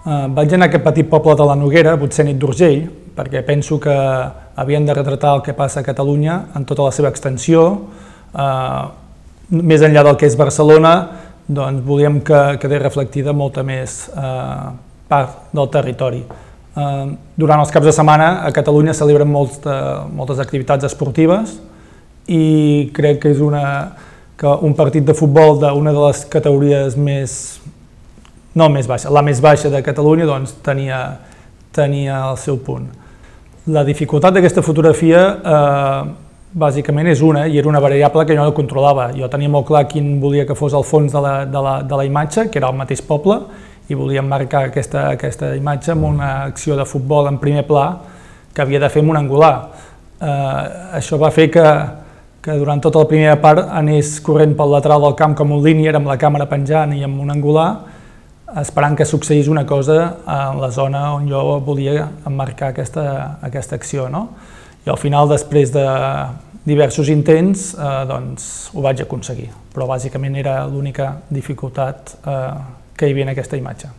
Vaig anar a aquest petit poble de la Noguera, potser nit d'Urgell, perquè penso que havien de retratar el que passa a Catalunya en tota la seva extensió. Més enllà del que és Barcelona, doncs volíem que quedés reflectida molta més part del territori. Durant els caps de setmana a Catalunya celebren moltes activitats esportives i crec que és un partit de futbol d'una de les categories no més baixa, la més baixa de Catalunya, doncs tenia el seu punt. La dificultat d'aquesta fotografia bàsicament és i era una variable que jo no controlava. Jo tenia molt clar quin volia que fos el fons de la imatge, que era el mateix poble, i volíem marcar aquesta imatge amb una acció de futbol en primer pla que havia de fer amb un angular. Això va fer que durant tota la primera part anés corrent pel lateral del camp com un línier, amb la càmera penjant i amb un angular, esperant que succeís una cosa en la zona on jo volia emmarcar aquesta acció. I al final, després de diversos intents, ho vaig aconseguir, però bàsicament era l'única dificultat que hi havia en aquesta imatge.